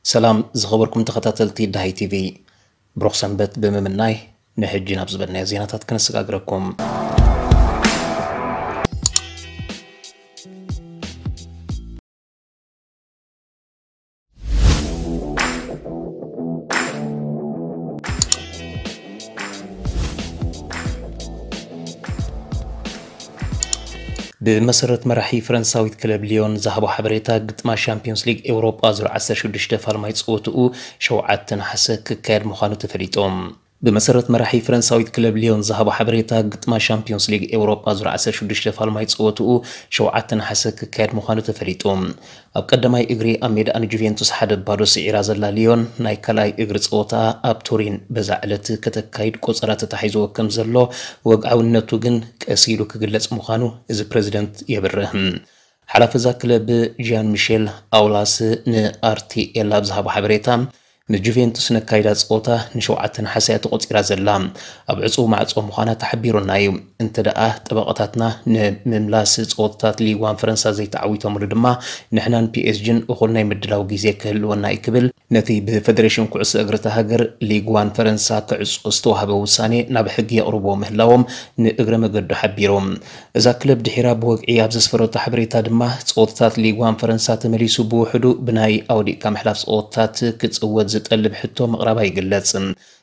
ሰላም ዝኸበርኩም ተኸታተልቲ ዳሃይ ቲቪ፣ ብሩኽ ሰንበት ብምምናይ ንሕጂ ናብ ዝበልናዮ ዜናታት ከነሰጋግረኩም። ብመሰረት መራሒ ፈረንሳዊት ክለብ ሊዮን ዝሃቦ ሓበሬታ፣ ግጥማ ሻምፒዮንስ ሊግ ኤውሮጳ ዙር ዓሰርተ ሽዱሽተ ፋልማይ ጸወትኡ ሸውዓተ ነሓሰ ክካየድ ምዃኑ ተፈሊጡ። ብመሰረት መራሒ ፈረንሳዊት ክለብ ሊዮን ዝሃቦ ሓበሬታ፣ ግጥማ ሻምፒዮንስ ሊግ ኤውሮጳ ዙር ዓሰርተ ሽዱሽተ ፋልማይ ጸወትኡ ሸውዓተ ነሓሰ ክካየድ ምዃኑ ተፈሊጡ። ኣብ ቀዳማይ እግሪ ኣብ ሜዳኣ ንጁቬንቱስ ሓደ ባዶ ስዒራ ዘላ ሊዮን፣ ናይ ካልኣይ እግሪ ጸወታ ኣብ ቱሪን በዛ ዕለት ከተካይድ ቆጸራ ተታሒዝዎ ከም ዘሎ፣ ወግዓውነቱ ግን ቀስ ኢሉ ክግለጽ ምዃኑ እዚ ፕረዚደንት የብርህ። ሓላፊ እዛ ክለብ ጂያን ሚሼል ኣውላስ ንኣርቲኤል ኣብ ዝሃቦ ሓበሬታ፣ ንጁቬንቱስ ነካይዳ ጸወታ ንሸውዓተ ነሓሰ እያ ተቖጺራ ዘላ። ኣብ ዕጹው ማዕጾ ምዃና ተሓቢሩና እዩ። እንተ ደኣ ጠበቓታትና ንምምላስ ጸወታታት ሊግ ዋን ፈረንሳ ዘይተዓዊቶምሉ ድማ፣ ንሕናን ፒኤስጂን እኹል ናይ ምድላው ግዜ ክህልወና እዩ ክብል፣ ነቲ ብፈደሬሽን ኩዕሶ እግሪ እታ ሃገር ሊግ ዋን ፈረንሳ ክዕጾ ዝተዋህበ ውሳኔ ናብ ሕጊ የቕርብዎ ምህላዎም ንእግረ መገዱ ሓቢሩ። እዛ ክለብ ድሒራ ብወግዒ ኣብ ዘስፈረቶ ሓበሬታ ድማ፣ ጸወታታት ሊግ ዋን ፈረንሳ ተመሊሱ ብውሕዱ ብናይ ኣውዲቕካ ምሕላፍ ጸወታታት ክጽወት ዝጠልብ ሕቶ ምቕራባ ይግለጽ።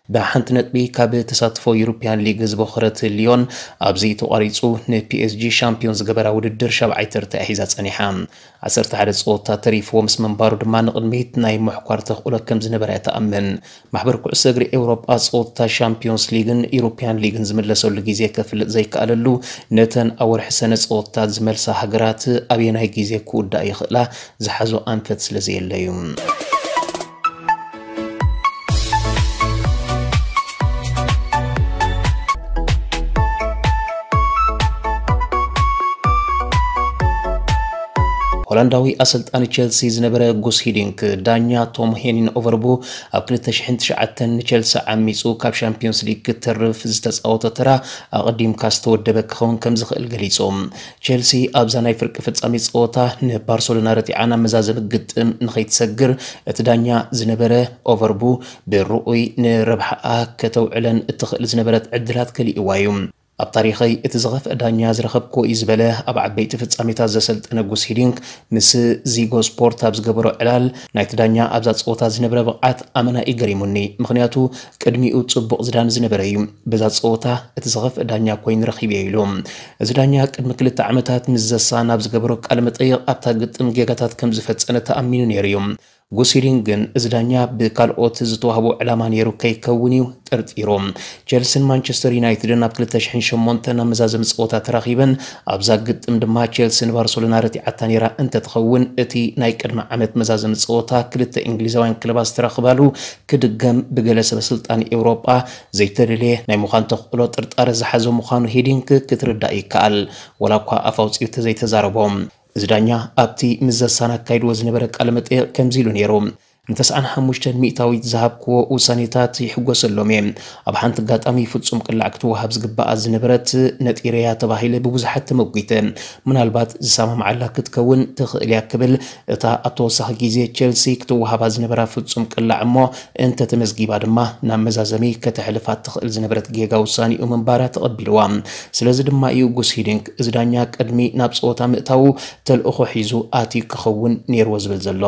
ብሓንቲ ነጥቢ ካብ ተሳትፎ ዩሮፕያን ሊግ ዝበኸረት ሊዮን፣ ኣብዚ ተቋሪጹ ንፒኤስጂ ሻምፒዮን ዝገበራ ውድድር ሻብዓይ ተርታ ሒዛ ጸኒሓ። ዓሰርተ ሓደ ጸወታ ተሪፍዎ ምስ ምንባሩ ድማ፣ ንቕድሚት ናይ ምሕኳር ተኽእሎ ከም ዝነበራ እያ ትኣምን። ማሕበር ኩዕሶ እግሪ ኤውሮጳ ጸወታ ሻምፒዮንስ ሊግን ዩሮፕያን ሊግን ዝምለሰሉ ግዜ ከፍልጥ ዘይከኣለሉ፣ ነተን ኣብ ወርሒ ሰነ ጸወታ ዝመልሳ ሃገራት ኣበየናይ ግዜ ክውዳእ ይኽእላ ዝሓዞ ኣንፈት ስለ ዘየለ እዩ። ሆላንዳዊ ኣሰልጣኒ ቸልሲ ዝነበረ ጉስ ሂዲንክ፣ ዳኛ ቶም ሄኒን ኦቨርቡ ኣብ ክልተ ሽሕን ትሽዓተን ንቸልሲ ዓሚጹ ካብ ሻምፒዮንስ ሊግ ክተርፍ ዝተጻወቶ ተራ ኣቐዲምካ ዝተወደበ ክኸውን ከም ዝኽእል ገሊጹ። ቸልሲ ኣብዛ ናይ ፍርቂ ፍጻሜ ጸወታ ንባርሰሎና ረቲዓ ናብ መዛዘሚ ግጥም ንኸይትሰግር፣ እቲ ዳኛ ዝነበረ ኦቨርቡ ብርኡይ ንረብሓኣ ከተውዕለን እትኽእል ዝነበረት ዕድላት ከሊእዋ እዩ። ኣብ ታሪኸይ እቲ ዝኸፍአ ዳኛ ዝረኸብክዎ እዩ ዝበለ ኣብ ዓበይቲ ፍጻሜታት ዘሰልጠነ ጉስ ሂዲንክ፣ ምስ ዚጎ ስፖርት ኣብ ዝገበሮ ዕላል፣ ናይቲ ዳኛ ኣብዛ ጸወታ ዝነበረ ብቕዓት ኣመና እዩ ገሪሙኒ። ምኽንያቱ ቅድሚኡ ጽቡቕ ዝዳኒ ዝነበረ እዩ። በዛ ጸወታ እቲ ዝኸፍአ ዳኛ ኮይኑ ረኺበዮ ኢሉ። እዚ ዳኛ ቅድሚ ክልተ ዓመታት ምስ ዘሳን ኣብ ዝገበሮ ቃለ መጠይቕ፣ ኣብታ ግጥም ጌጋታት ከም ዝፈጸመ ተኣሚኑ ነይሩ እዩ። ጉስ ሂዲንክ ግን፣ እዚ ዳኛ ብካልኦት ዝተዋህቦ ዕላማ ነይሩ ከይከውን እዩ ጠርጢሩ። ቸልሲን ማንቸስተር ዩናይትድን ኣብ ክልተ ሽሕን ሸሞንተን ኣብ መዛዘሚ ጸወታ ተራኺበን፣ ኣብዛ ግጥም ድማ ቸልሲ ንባርሰሎና ረቲዓታ ነይራ እንተትኸውን፣ እቲ ናይ ቅድሚ ዓመት መዛዘሚ ጸወታ ክልተ እንግሊዛውያን ክለባት ዝተራኽባሉ ክድገም ብገለ ሰበ ስልጣን ኤውሮጳ ዘይተደልየ ናይ ምዃን ተኽእሎ ጥርጣረ ዝሓዞ ምዃኑ ሂዲንክ ክትርዳእ ይከኣል፣ ወላ እኳ ኣፍ ኣውጺኡ ተዘይተዛረቦ። እዚ ዳኛ ኣብቲ ምስ ዘሳን ኣካይድዎ ዝነበረ ቃለ መጠይቕ ከምዚ ኢሉ ነይሩ። ንተስዓን ሓሙሽተን ሚእታዊት ዝሃብክዎ ውሳኔታት ይሕጎሰሎም እየ። ኣብ ሓንቲ ኣጋጣሚ ፍጹም ቅላዕ ክትወሃብ ዝግባኣ ዝነበረት ነጢረያ ተባሂለ ብብዙሓት ተመጒተ። ምናልባት ዝሰማምዓላ ክትከውን ትኽእል እያ ክብል፣ እታ ኣብ ተወሳኺ ግዜ ቸልሲ ክትወሃባ ዝነበራ ፍጹም ቅላዕ እሞ እንተተመዝጊባ ድማ ናብ መዛዘሚ ከተሕልፋ ትኽእል ዝነበረት ጌጋ ውሳኔኡ ምንባራ ተቐቢልዋ። ስለዚ ድማ እዩ ጉስ ሂዲንክ፣ እዚ ዳኛ ቅድሚ ናብ ጸወታ ምእታዉ ተልእኾ ሒዙ ኣትዩ ክኸውን ነይርዎ ዝብል ዘሎ።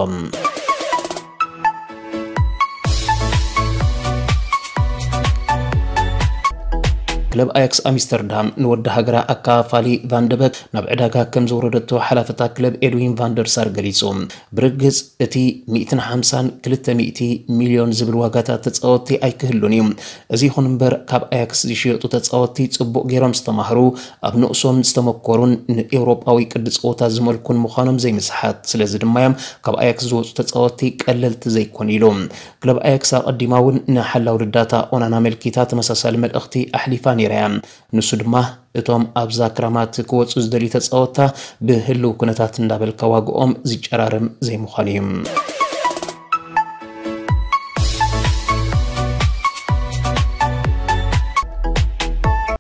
ክለብ ኣያክስ ኣምስተርዳም ንወዲ ሃገራ ኣካፋሊ ቫንደበክ ናብ ዕዳጋ ከም ዘውረደቶ ሓላፍታ ክለብ ኤድዊን ቫንደርሳር ገሊጹ። ብርግጽ እቲ ሚእትን ሓምሳን ክልተ ሚእቲ ሚልዮን ዝብል ዋጋታት ተጻወትቲ ኣይክህሉን እዩ። እዚ ይኹን እምበር፣ ካብ ኣያክስ ዝሽየጡ ተጻወትቲ ጽቡቕ ገይሮም ዝተማህሩ፣ ኣብ ንኡሶም ዝተመኮሩን ንኤውሮጳዊ ቅዲ ጸወታ ዝመልኩን ምዃኖም ዘይምስሓት። ስለዚ ድማ እዮም ካብ ኣያክስ ዝወጹ ተጻወትቲ ቀለልቲ ዘይኮኑ ኢሉ። ክለብ ኣያክስ ኣቐዲማ እውን ንሓላው ልዳታ ኦናና ኣመልኪታ ተመሳሳሊ መልእኽቲ ኣሕሊፋ ነይራ እያ። ንሱ ድማ፣ እቶም ኣብዛ ክራማት ክወጹ ዝደልዩ ተጻወትታ ብህልው ኩነታት እንዳበልካ ዋግኦም ዝጨራረም ዘይምዃኑ እዩ።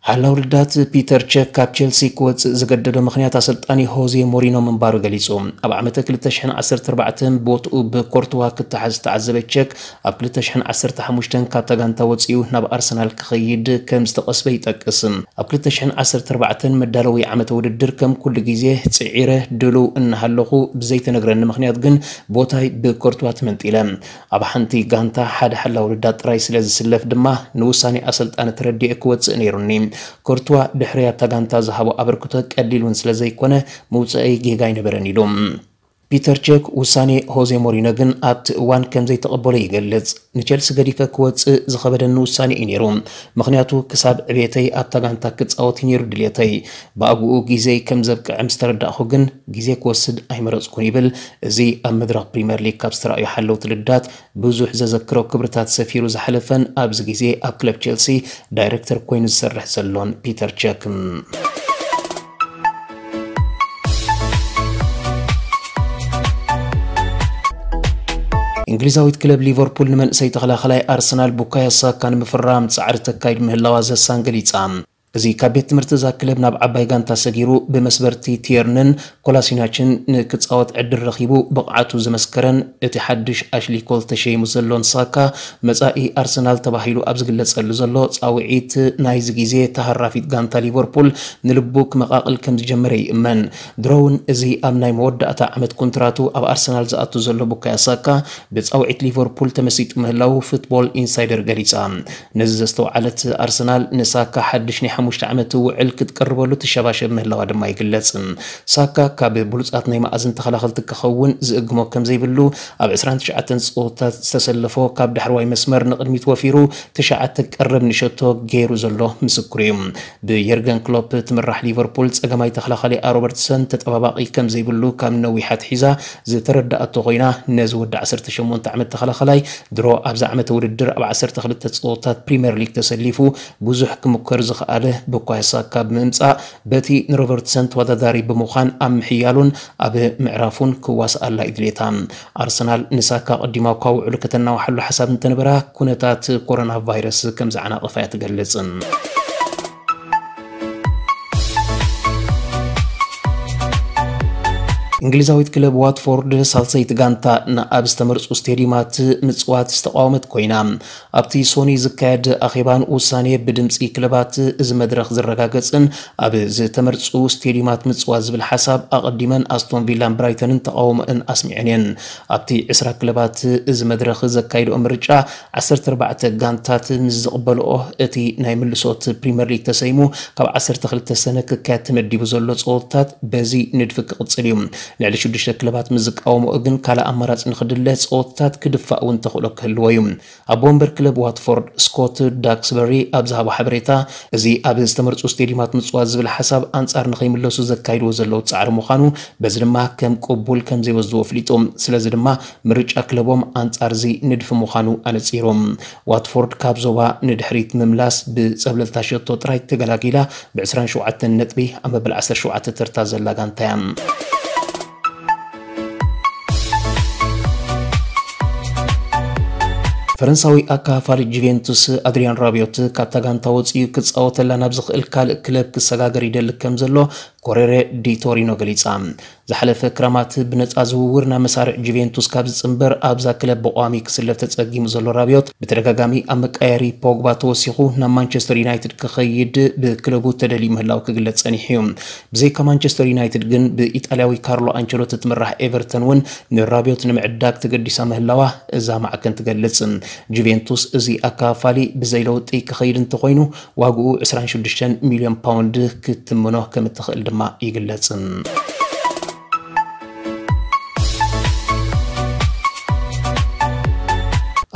ሓላው ልዳት ፒተር ቸክ ካብ ቸልሲ ክወጽእ ዝገደዶ ምኽንያት ኣሰልጣኒ ሆዜ ሞሪኖ ምንባሩ ገሊጹ። ኣብ ዓመተ ክልተ ሽሕን ዓሰርተ ኣርባዕተን ቦትኡ ብኮርትዋ ክተሓዝ ዝተዓዘበ ቸክ፣ ኣብ ክልተ ሽሕን ዓሰርተ ሓሙሽተን ካብታ ጋንታ ወጺኡ ናብ ኣርሰናል ክኸይድ ከም ዝተቐስበ ይጠቅስ። ኣብ ክልተ ሽሕን ዓሰርተ ኣርባዕተን መዳለዊ ዓመተ ውድድር ከም ኩሉ ግዜ ጽዒረ ድሉው እናሃለኹ ብዘይተነግረኒ ምኽንያት ግን ቦታይ ብኮርትዋ ተመንጢለ። ኣብ ሓንቲ ጋንታ ሓደ ሓላው ልዳት ጥራይ ስለ ዝስለፍ ድማ ንውሳኔ ኣሰልጣኒ ተረዲኤ ክወጽእ ነይሩኒ። ኮርትዋ ድሕሪ ኣብታ ጋንታ ዝሃቦ ኣበርክቶ ቀሊል እውን ስለ ዘይኮነ ምውጽኣይ ጌጋ ኣይነበረን ኢሉ። ፒተር ቸክ ውሳኔ ሆዜ ሞሪኖ ግን ኣብቲ እዋን ከም ዘይተቐበሎ ይገልጽ። ንቸልሲ ገዲፈ ክወጽእ ዝኸበደኒ ውሳኔ እዩ ነይሩ፣ ምኽንያቱ ክሳብ ዕቤተይ ኣብታ ጋንታ ክጻወት እዩ ነይሩ ድልየተይ። ብኣግኡ ግዜይ ከም ዘብቅዐ ምስ ተረዳእኹ ግን ግዜ ክወስድ ኣይመረጽኩን ይብል። እዚ ኣብ መድረኽ ፕሪምየር ሊግ ካብ ዝተራእዩ ሓለውቲ ልዳት ብዙሕ ዘዘክሮ ክብርታት ሰፊሩ ዝሓለፈን ኣብዚ ግዜ ኣብ ክለብ ቸልሲ ዳይረክተር ኮይኑ ዝሰርሕ ዘሎን ፒተር ቸክ። እንግሊዛዊት ክለብ ሊቨርፑል ንመንእሰይ ተኸላኸላይ ኣርሰናል ቡካዮ ሳካ ንምፍራም ጻዕሪ ተካይድ ምህላዋ ዘሳን ገሊጻ። እዚ ካብ ቤት ትምህርቲ እዛ ክለብ ናብ ዓባይ ጋንታ ሰጊሩ ብመስበርቲ ቲየርንን ኮላሲናችን ንክጻወት ዕድል ረኺቡ ብቕዓቱ ዝመስከረን እቲ ሓድሽ ኣሽሊ ኮል ተሸይሙ ዘሎን ሳካ መጻኢ ኣርሰናል ተባሂሉ ኣብ ዝግለጸሉ ዘሎ ጻውዒት ናይዚ ግዜ ተሃራፊት ጋንታ ሊቨርፑል ንልቡ ክመቓቕል ከም ዝጀመረ ይእመን። ድሮ እውን እዚ ኣብ ናይ መወዳእታ ዓመት ኮንትራቱ ኣብ ኣርሰናል ዝኣቱ ዘሎ ቡካዮ ሳካ ብጻውዒት ሊቨርፑል ተመሲጡ ምህላዉ ፉትቦል ኢንሳይደር ገሊጻ። ነዚ ዘስተውዓለት ኣርሰናል ንሳካ ሓድሽ ናይ ሓሙሽተ ዓመት ውዕል ክትቅርበሉ ትሸባሸብ ምህላዋ ድማ ይግለጽ። ሳካ ካብ ብሉጻት ናይ መኣዝን ተኸላኸልቲ ክኸውን ዝእግሞ ከም ዘይብሉ ኣብ ዕስራን ትሽዓተን ጸወታት ዝተሰለፎ ካብ ዳሕረዋይ መስመር ንቕድሚት ወፊሩ ትሽዓተ ቀረብ ንሸቶ ገይሩ ዘሎ ምስክሩ እዩ። ብየርገን ክሎፕ ትምራሕ ሊቨርፑል ጸገማይ ተኸላኻሊኣ ሮበርትሰን ተጠባባቒ ከም ዘይብሉ ካብ ነዊሕ ኣትሒዛ ዝተረዳኣቶ ኮይና፣ ነዚ ወዲ ዓሰርተ ሸሞንተ ዓመት ተኸላኻላይ ድሮ ኣብዚ ዓመተ ውድድር ኣብ ዓሰርተ ክልተ ጸወታት ፕሪምየር ሊግ ተሰሊፉ ብዙሕ ክምከር ዝኸኣለ ቡካዮ ሳካ ብምምጻእ፣ በቲ ንሮበርትሰን ተወዳዳሪ ብምዃን ኣብ ምሕያሉን ኣብ ምዕራፉን ክዋስኣላ እዩ ድሌታ። ኣርሰናል ንሳካ ኣቐዲማ እኳ ውዕሉ ከተናውሓሉ ሓሳብ እንተነበራ፣ ኩነታት ኮሮና ቫይረስ ከም ዘዓናቐፋ እያ ትገልጽ። እንግሊዛዊት ክለብ ዋትፎርድ ሳልሰይቲ ጋንታ ንኣብ ዝተመርጹ ስቴዲዩማት ምጽዋት ዝተቃወመት ኮይና፣ ኣብቲ ሶኒ ዝካየድ ኣኼባን ውሳኔ ብድምጺ ክለባት እዚ መድረኽ ዝረጋገጽን ኣብ ዝተመርጹ ስቴዲዩማት ምጽዋት ዝብል ሓሳብ ኣቐዲመን ኣስቶን ቪላን ብራይተንን ተቃውሞአን ኣስሚዐን እየን። ኣብቲ ዕስራ ክለባት እዚ መድረኽ ዘካይድኦ ምርጫ ዓሰርተ ኣርባዕተ ጋንታት ምስ ዝቕበልኦ እቲ ናይ ምልሶት ፕሪምየር ሊግ ተሰይሙ ካብ ዓሰርተ ክልተ ሰነ ክካየድ ተመዲቡ ዘሎ ጸወታት በዚ ንድፊ ክቕጽል እዩ። ልዕሊ ሽዱሽተ ክለባት ምስ ዝቃወምኦ ግን ካልእ ኣማራጺ ንኽድለ ጸወታት ክድፋእ እውን ተኽእሎ ክህልዎ እዩ። ኣቦ ወንበር ክለብ ዋትፎርድ ስኮት ዳክስበሪ ኣብ ዝሃቦ ሓበሬታ፣ እዚ ኣብ ዝተመርጹ ስቴዲዩማት ምጽዋት ዝብል ሓሳብ ኣንጻር ንኸይምለሱ ዘካይድዎ ዘለዉ ጻዕሪ ምዃኑ፣ በዚ ድማ ከም ቅቡል ከም ዘይወስድዎ ኣፍሊጡ። ስለዚ ድማ ምርጫ ክለቦም ኣንጻር እዚ ንድፊ ምዃኑ ኣነጺሩ። ዋትፎርድ ካብ ዞባ ንድሕሪት ምምላስ ብጸብለልታ ሸቶ ጥራይ ተገላጊላ፣ ብ ዕስራን ሸውዓተን ነጥቢ ኣብ መበል ዓሰርተ ሸውዓተ ተርታ ዘላ ጋንታ እያ። ፈረንሳዊ ኣካፋሊ ጁቬንቱስ ኣድሪያን ራቢዮት ካብታ ጋንታ ወጺኡ ክጻወተላ ናብ ዝኽእል ካልእ ክለብ ክሰጋገር ይደሊ ከም ዘሎ ኮሬሬ ዲ ቶሪኖ ገሊጻ። ዝሓለፈ ክረማት ብነጻ ዝውውር ናብ መሳርዕ ጁቬንቱስ ካብ ዝጽንበር ኣብዛ ክለብ ብቋሚ ክስለፍ ተጸጊሙ ዘሎ ራቢዮት ብተደጋጋሚ ኣብ መቀያየሪ ፖግባ ተወሲኹ ናብ ማንቸስተር ዩናይትድ ክኸይድ ብክለቡ ተደልዩ ምህላው ክግለጽ ጸኒሑ እዩ። ብዘይካ ማንቸስተር ዩናይትድ ግን ብኢጣልያዊ ካርሎ ኣንቸሎቲ ትምራሕ ኤቨርተን እውን ንራቢዮት ንምዕዳግ ተገዲሳ ምህላዋ እዛ ማዕከን ትገልጽ። ጁቬንቱስ እዚ ኣካፋሊ ብዘይ ለውጢ ክኸይድ እንተኾይኑ ዋግኡ ዕስራን ሽዱሽተን ሚልዮን ፓውንድ ክትምኖ ከም እትኽእል ድማ ይግለጽ።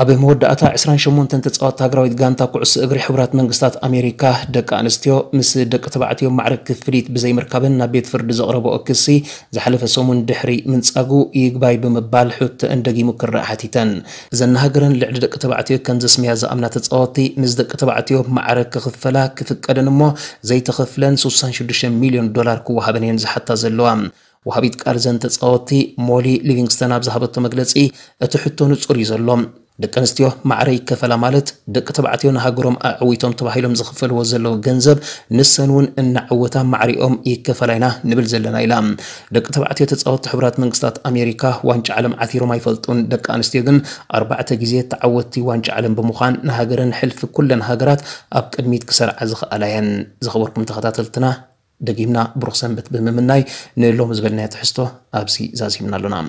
ኣብ መወዳእታ ዕስራን ሸሞንተን ተጻወትቲ ሃገራዊት ጋንታ ኩዕሶ እግሪ ሕቡራት መንግስታት ኣሜሪካ ደቂ ኣንስትዮ ምስ ደቂ ተባዕትዮ ማዕረ ክፍሊት ብዘይምርካበን ናብ ቤት ፍርዲ ዘቕረብኦ ክሲ ዝሓለፈ ሰሙን ድሕሪ ምንጻጉ ይግባይ ብምባል ሕቶአን ደጊሙ ክረኣ ሓቲተን። እዘን ንሃገረን ልዕሊ ደቂ ተባዕትዮ ከም ዘስምያ ዝኣምና ተጻወትቲ ምስ ደቂ ተባዕትዮ ማዕረ ክኽፈላ ክፍቀደን እሞ ዘይተኸፍለን ስሳን ሽዱሽተ ሚልዮን ዶላር ክወሃበን እየን ዝሓታ ዘለዋ። ወሃቢት ቃል እዘን ተጻወትቲ ሞሊ ሊቪንግስተን ኣብ ዝሃበቶ መግለጺ፣ እቲ ሕቶ ንጹር እዩ ዘሎ። ደቂ ኣንስትዮ ማዕረ ይከፈላ ማለት ደቂ ተባዕትዮ ንሃገሮም ኣዕዊቶም ተባሂሎም ዝኽፈልዎ ዘለዉ ገንዘብ ንሰን እውን እናዕወታ ማዕሪኦም ይከፈላ ኢና ንብል ዘለና ኢላ። ደቂ ተባዕትዮ ተጻወትቲ ሕቡራት መንግስታት ኣሜሪካ ዋንጫ ዓለም ዓቲሮም ኣይፈልጡን። ደቂ ኣንስትዮ ግን ኣርባዕተ ግዜ ተዓወትቲ ዋንጫ ዓለም ብምዃን ንሃገረን ሕልፊ ኩለን ሃገራት ኣብ ቅድሚት ክሰርዓ ዝኽኣላ እየን። ዝኸበርኩም ተኸታተልትና ደጊምና ብሩኽ ሰንበት ብምምናይ ንሎሚ ዝበልናዮ ትሕዝቶ ኣብዚ ዛዚምና ኣሎና።